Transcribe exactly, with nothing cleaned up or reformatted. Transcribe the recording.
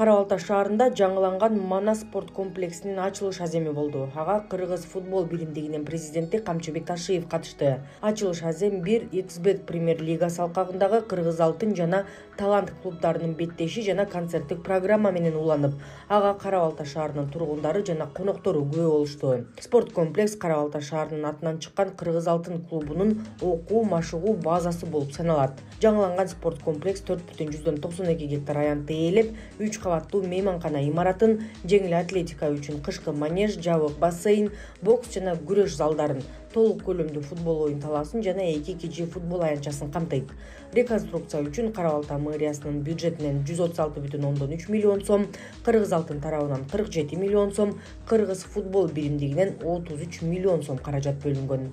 Кара Балта шаарында жаңыланган Манас спорт комплексинин ачылыш аземи болду. Ага Кыргыз футбол биримдигинин президенти Камчыбек Ташиев катышты. Ачылыш азем бир икс бет премьер лигасы алкагындагы Кыргыз алтын жана талант клубдарынын беттеши жана концерттик программа менен уланып, ага Кара Балта шаарынын тургундары жана коноктору күбө болушту. Спорт комплекс Кара Балта шаарынын атынан чыккан Кыргыз алтын клубунун окуу, машыгуу базасы болуп саналат. Жаңыланган спорт комплекс төрт бүтүн жүздөн токсон эки гектар аянтты ээлеп, үч кабаттуу мейманкана имаратын, жеңил атлетика үчүн кышкы манеж, жабык бассейн, бокс жана күрөш залдарын, толук көлөмдүү футбол оюн талаасын жана эки кичи футбол аянтчасын камтыйт. Реконструкция үчүн Кара Балта мэриясынын бюджетинен жүз отуз алты бүтүн ондон үч миллион сом, Кыргыз алтын тарабынан кырк жети миллион сом, Кыргыз футбол биримдигинен отуз үч миллион сом каражат бөлүнгөн.